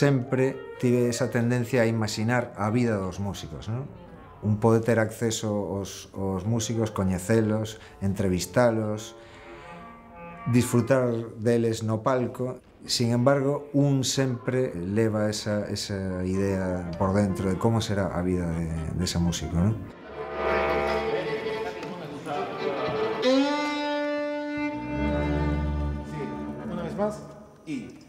sempre tive esa tendencia a imaginar a vida dos músicos, non? Un poder ter acceso aos músicos, coñecelos, entrevistalos, disfrutar deles no palco. Sin embargo, un sempre leva esa idea por dentro de como será a vida dese músico, non? Una vez más y...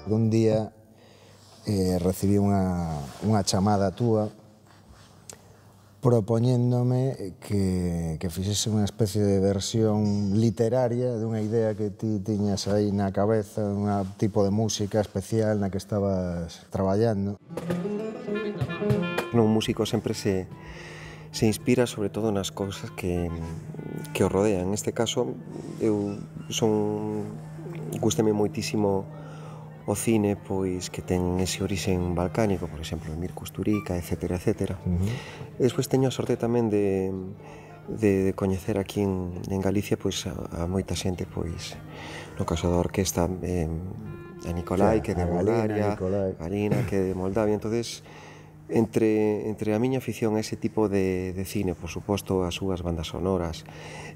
Un día recibí unha chamada túa propoñéndome que fixese unha especie de versión literaria dunha idea que ti tiñas aí na cabeza, un tipo de música especial na que estabas traballando. Un músico sempre se inspira sobre todo nas cousas que o rodean. Neste caso, eu gústame moitísimo o cine, pois, que ten ese orixen balcánico, por exemplo, Emir Kusturica, etcétera, etcétera. Despois teño a sorte tamén de coñecer aquí en Galicia, pois, a moita xente, pois, no caso da orquesta, a Nicolai, que é de Bulgaria, a Galina, que é de Moldavia. Entonces, entre a miña afición a ese tipo de cine, por suposto, as súas bandas sonoras,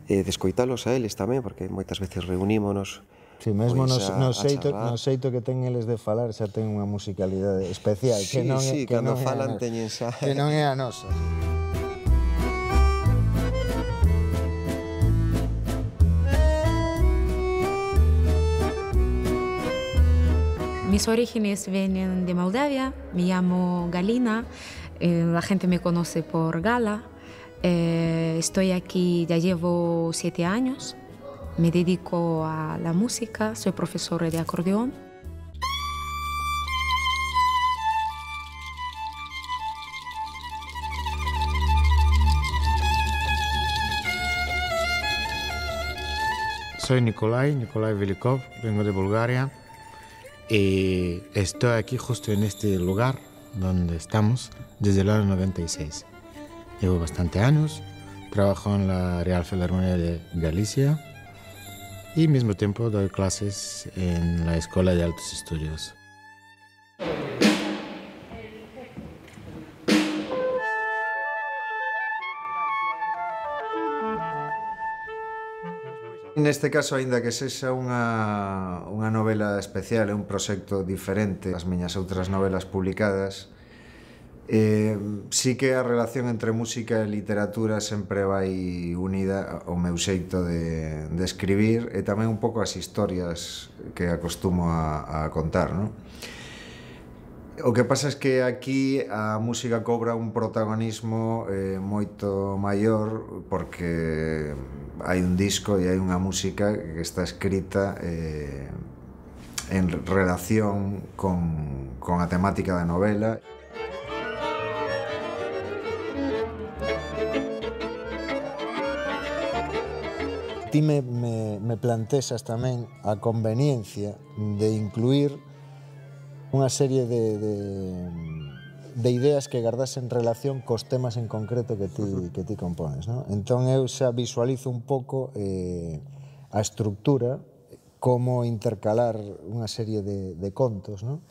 de escoitalos a eles tamén, porque moitas veces reunímonos. Si, mesmo no xeito que ten eles de falar xa ten unha musicalidade especial. Sí, cando falan teñen xa... Que non é a nosa. Mis orígenes vienen de Moldavia, me llamo Galina, la gente me conoce por Gala. Estoy aquí, ya llevo 7 años, me dedico a la música, soy profesora de acordeón. Soy Nikolai Velikov, vengo de Bulgaria y estoy aquí justo en este lugar donde estamos desde el año 96. Llevo bastante años, trabajo en la Real Filarmonía de Galicia y al mismo tiempo doy clases en la Escuela de Altos Estudios. Neste caso, aínda que sexa unha novela especial, é un proxecto diferente ás miñas outras novelas publicadas, sí que a relación entre música e literatura sempre vai unida ao meu xeito de escribir e tamén un pouco as historias que acostumo a contar, non? O que pasa é que aquí a música cobra un protagonismo moito maior porque hai un disco e hai unha música que está escrita en relación con a temática da novela. Ti me plantexas tamén a conveniencia de incluir unha serie de ideas que gardas en relación cos temas en concreto que ti compones, non? Entón eu xa visualizo un pouco a estructura, como intercalar unha serie de contos, non?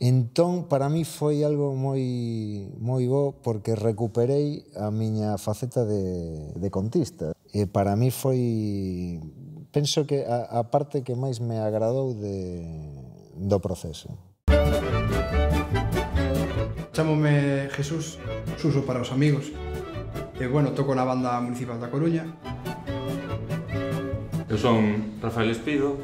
Entón, para mí foi algo moi bo porque recuperei a miña faceta de contista. E para mí foi, penso que a parte que máis me agradou do proceso. Chámome Jesús, Suso para os amigos. E, bueno, toco na banda municipal da Coruña. Eu son Rafael Espido,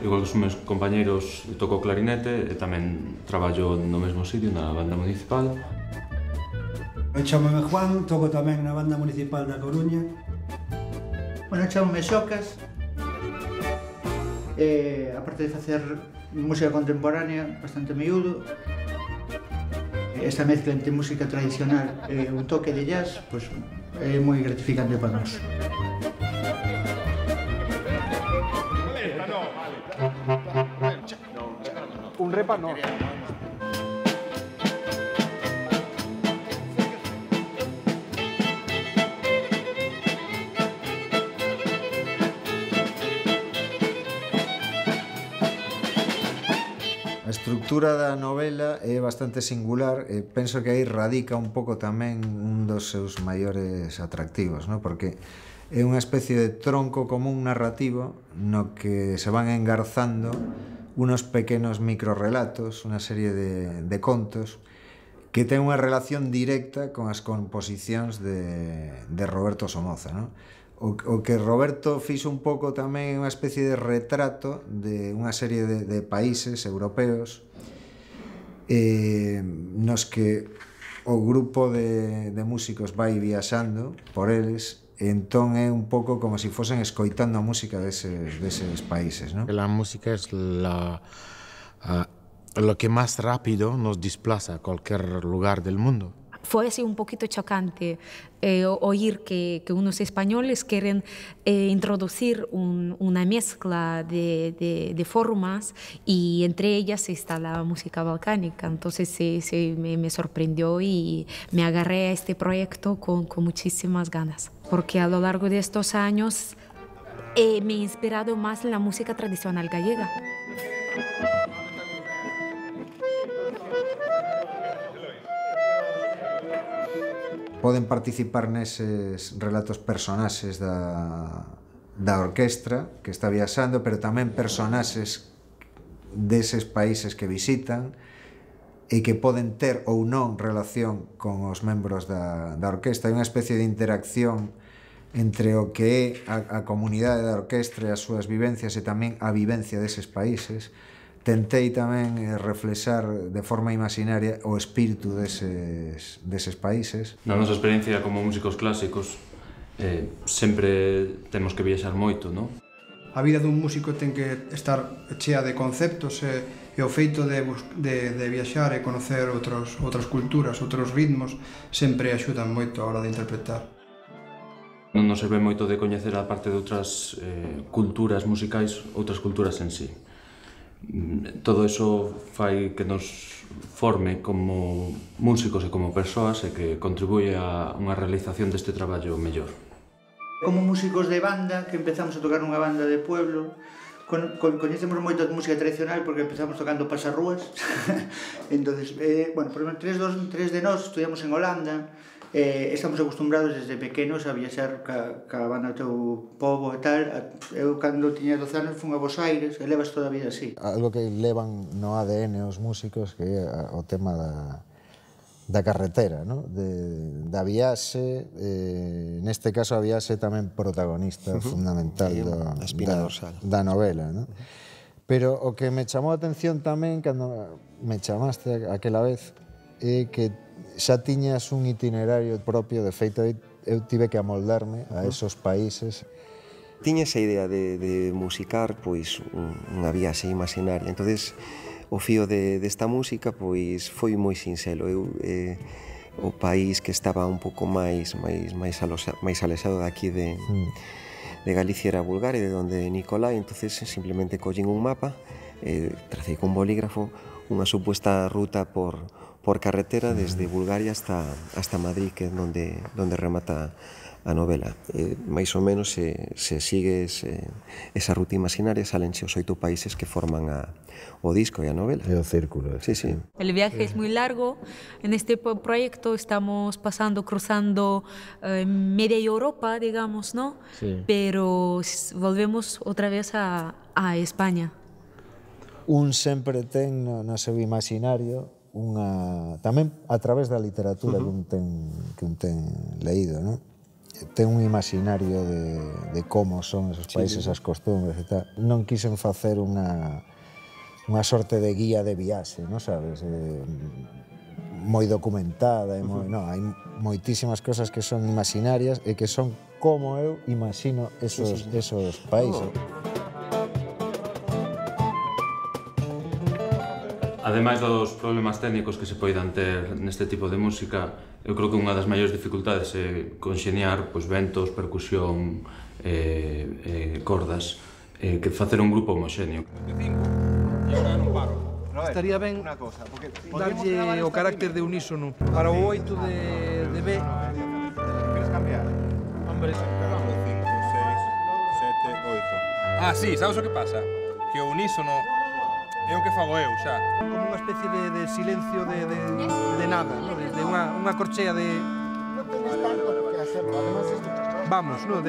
igual que os meus compañeiros, toco clarinete e tamén traballo no mesmo sitio, na banda municipal. Eu chámome Juan, toco tamén na banda municipal da Coruña. Bueno, chámome Xocas. Aparte de facer música contemporánea, bastante miúdo, esta mezcla entre música tradicional e un toque de jazz, pois, é moi gratificante para nós. Un repa no. estructura da novela é bastante singular e penso que aí radica un pouco tamén un dos seus maiores atractivos, no? Porque é unha especie de tronco común narrativo no que se van engarzando unos pequenos microrelatos, unha serie de contos que ten unha relación directa con as composicións de Roberto Somoza, no? O que Roberto fixo un pouco tamén é unha especie de retrato de unha serie de países europeos nos que o grupo de músicos vai viaxando por eles, entón é un pouco como se fosen escoitando a música deses países, ¿no? La música es lo que más rápido nos desplaza a cualquier lugar del mundo. Fue así un poquito chocante oír que unos españoles quieren introducir una mezcla de formas y entre ellas está la música balcánica. Entonces me sorprendió y me agarré a este proyecto con muchísimas ganas, porque a lo largo de estos años me he inspirado más en la música tradicional gallega. Poden participar neses relatos personaxes da orquestra que está viaxando, pero tamén personaxes deses países que visitan e que poden ter ou non relación con os membros da orquestra. Hai unha especie de interacción entre o que é a comunidade da orquestra e as súas vivencias e tamén a vivencia deses países. Tentei tamén reflexar de forma imaginaria o espírito deses países. Na nosa experiencia como músicos clásicos sempre temos que viaxar moito, non? A vida dun músico ten que estar chea de conceptos e o feito de viaxar e conocer outras culturas, outros ritmos, sempre axudan moito a hora de interpretar. Non nos serve moito de coñecer a parte de outras culturas musicais, outras culturas en sí. Todo eso fai que nos forme como músicos e como persoas e que contribuye a unha realización deste traballo mellor. Como músicos de banda, que empezamos a tocar nunha banda de pueblo, coñecemos moito de música tradicional porque empezamos tocando pasarrúas. Entonces, bueno, por exemplo, tres de nós estudiamos en Holanda, estamos acostumbrados desde pequenos a viaxar ca banda do teu pobo e tal. Eu, cando tiña 12 anos, fun a Bos Aires e levas toda a vida así. Algo que levan no ADN os músicos, que é o tema da carretera, ¿no? Da viaxe, neste caso a viaxe tamén protagonista fundamental da novela, ¿no? Pero o que me chamou a atención tamén cando me chamaste aquela vez é que xa tiñas un itinerario propio. De feito, eu tive que amoldarme a esos países. Tiña esa idea de musicar pois unha viaxe imaginaria. Entonces, o fío desta música pois foi moi sinxelo. O país que estaba un pouco máis alexado daqui de Galicia era Bulgaria, de onde Nicolai. Entonces simplemente collín un mapa, tracei con bolígrafo unha supuesta ruta por carretera desde Bulgaria hasta Madrid, que é donde remata a novela. Mais ou menos se sigues esa ruta imaginaria, salense os 8 países que forman o disco e a novela. É o círculo. Sí, sí. El viaje es muy largo. En este proyecto estamos cruzando media Europa, digamos, ¿no? Sí. Pero volvemos otra vez a España. Un sempre ten no seu imaginario tamén a través da literatura que un ten leído, non? Ten un imaginario de como son esos países, as costumbres e tal. Non quixen facer unha sorte de guía de viaxe, non sabes? Moi documentada, non, hai moitísimas cosas que son imaginarias e que son como eu imagino esos países. Ademais dos problemas técnicos que se poidan ter neste tipo de música, eu creo que unha das maiores dificultades é conxeniar ventos, percusión, cordas, que facer un grupo homoxéneo. Estaría ben darlle o carácter de unísono para o 8 de B. Queres cambiar? Hombre, 5, 6, 7, 8. Ah, sí, sabes o que pasa? Que o unísono É o que fago eu, xa. Como unha especie de silencio de nada, de unha corchea de... Non tenes tanto que hacerlo, además esto... Vamos, non?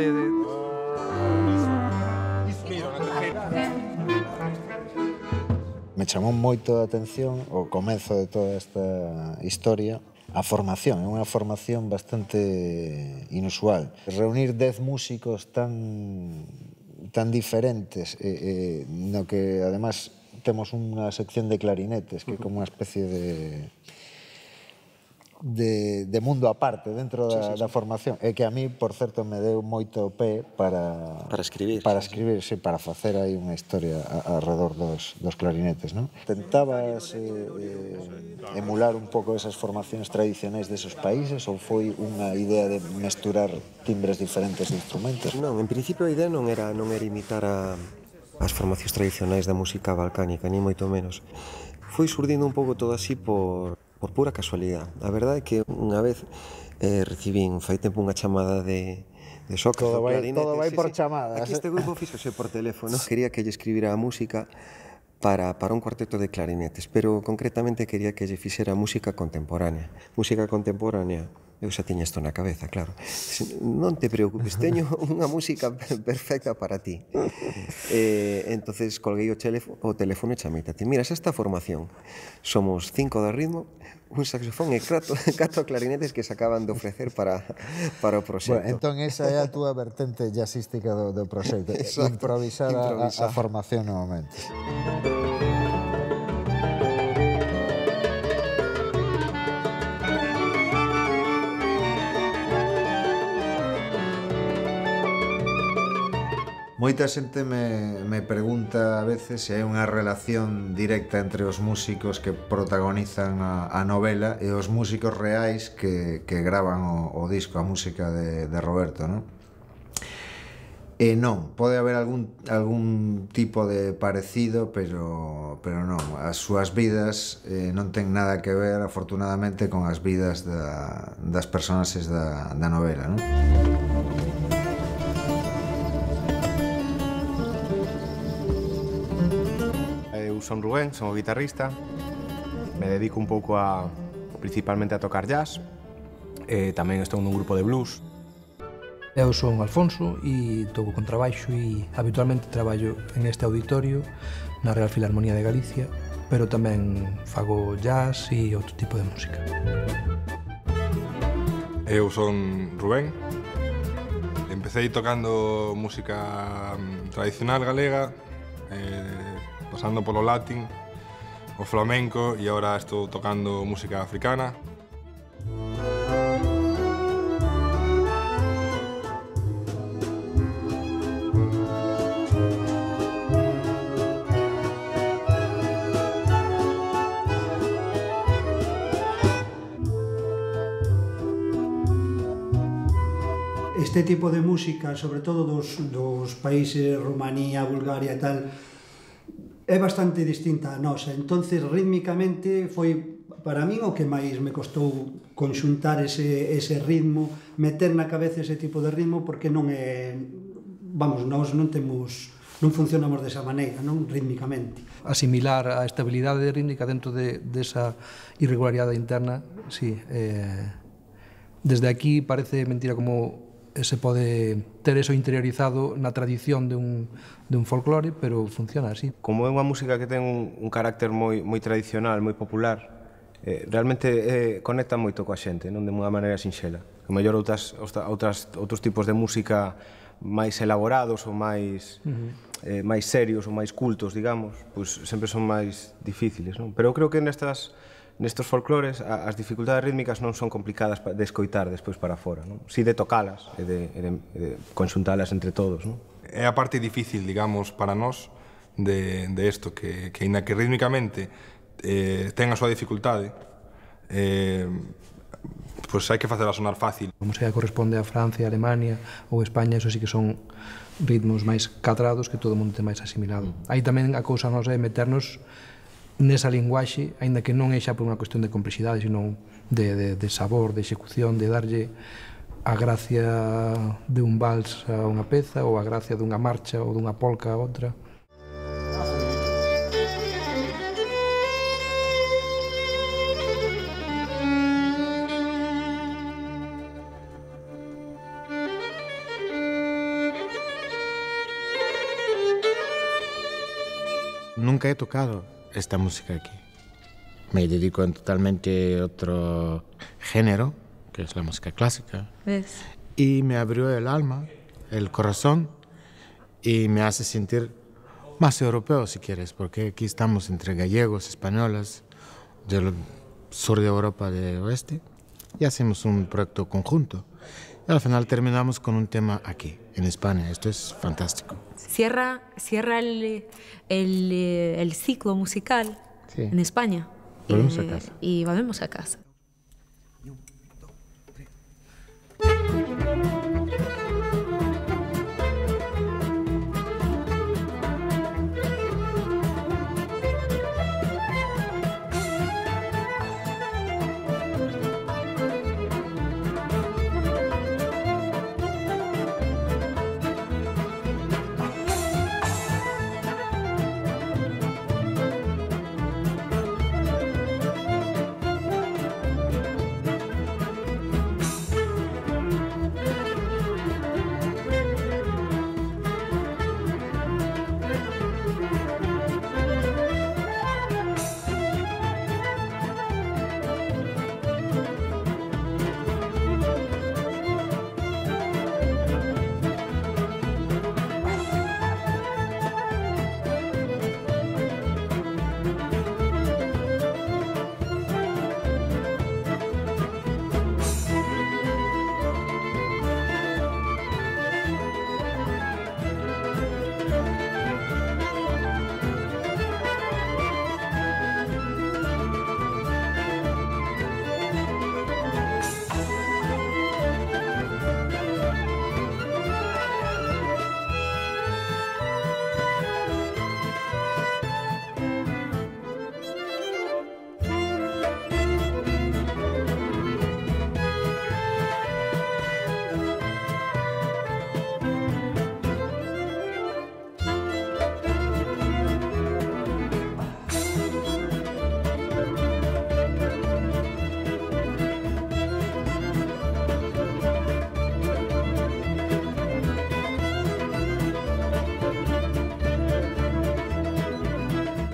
Me chamou moito a atención o comezo de toda esta historia, a formación, é unha formación bastante inusual. Reunir 10 músicos tan diferentes, no que además temos unha sección de clarinetes, que é como unha especie de mundo aparte dentro da formación, e que a mí, por certo, me deu moito pé para escribir, para facer aí unha historia alrededor dos clarinetes, non? Tentabas emular un pouco esas formacións tradicionais desos países ou foi unha idea de mesturar timbres diferentes de instrumentos? Non, en principio a idea non era imitar as formacións tradicionais da música balcánica, ni moito menos. Foi surdindo un pouco todo así por pura casualidade. A verdade é que unha vez recibín fai tempo unha chamada de Sócrates do clarinete. Todo vai por chamadas. Aquí este grupo fíxose por teléfono. Quería que lle escribira a música para un cuarteto de clarinetes, pero concretamente quería que lle fixera música contemporánea. Música contemporánea, eu xa tiña isto na cabeza, claro. Non te preocupes, teño unha música perfecta para ti. Entonces colguei o teléfono e chamei a ti. Mira, esta formación. Somos 5 de ritmo, un saxofón e 4 clarinetes que se acaban de ofrecer para o proxecto. Bueno, entón esa é a túa vertente jazzística do proxecto. Improvisar a formación novamente. Moita xente me pregunta a veces se hai unha relación directa entre os músicos que protagonizan a novela e os músicos reais que gravan o disco, a música de Roberto, non? E non, pode haber algún tipo de parecido, pero non, as súas vidas non ten nada que ver, afortunadamente, con as vidas das personaxes da novela, non? Son Rubén, son o guitarrista, me dedico un pouco principalmente a tocar jazz, tamén estou nun grupo de blues. Eu son Alfonso e toco contrabaixo e habitualmente traballo en este auditorio na Real Filarmonía de Galicia, pero tamén fago jazz e outro tipo de música. Eu son Rubén, empecé tocando música tradicional galega, pasando polo latín, o flamenco e agora estou tocando música africana. Este tipo de música, sobre todo dos países Rumanía, Bulgaria e tal, é bastante distinta a nosa, entonces rítmicamente foi para min o que máis me costou conxuntar ese ritmo, meter na cabeza ese tipo de ritmo, porque non é, vamos, nós non funcionamos desa maneira, non rítmicamente. Asimilar a estabilidade rítmica dentro desa irregularidade interna, sí, desde aquí parece mentira como se pode ter eso interiorizado na tradición dun folclore, pero funciona así. Como é unha música que ten un carácter moi tradicional, moi popular, realmente conecta moito coa xente, non de unha maneira sinxela. Que mellor outros tipos de música máis elaborados ou máis serios ou máis cultos, digamos, pois sempre son máis difíciles, non? Pero eu creo que nestos folclores as dificultades rítmicas non son complicadas de escoitar despois para fora, non? Si de tocalas e de conxuntalas entre todos, non? É a parte difícil, digamos, para nós de isto, que ainda que rítmicamente ten a súa dificultade, pois hai que facela sonar fácil. A música que corresponde a Francia, Alemania ou España, eso sí que son ritmos máis cadrados que todo o mundo ten máis asimilado. Aí tamén a cousa nosa é meternos nesa linguaxe, aínda que non é xa por unha cuestión de complexidade, sino de sabor, de execución, de darlle a gracia de un vals a unha peza ou a gracia dunha marcha ou dunha polca a outra. nunca he tocado esta música aquí. Me dedico a totalmente otro género, que es la música clásica. ¿Ves? Y me abrió el alma, el corazón, y me hace sentir más europeo, si quieres, porque aquí estamos entre gallegos, españoles, del sur de Europa de oeste, y hacemos un proyecto conjunto. Y al final terminamos con un tema aquí, en España. Esto es fantástico. Cierra el ciclo musical en España. Volvemos a casa. Y volvemos a casa.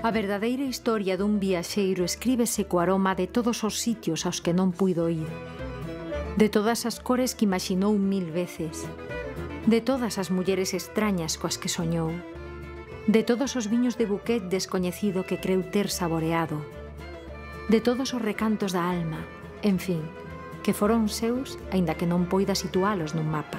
A verdadeira historia dun viaxeiro escríbese co aroma de todos os sitios aos que non puido ir, de todas as cores que imaxinou 1000 veces, de todas as mulleres extrañas coas que soñou, de todos os viños de buquet descoñecido que creu ter saboreado, de todos os recantos da alma, en fin, que foron seus, aínda que non poida situalos nun mapa.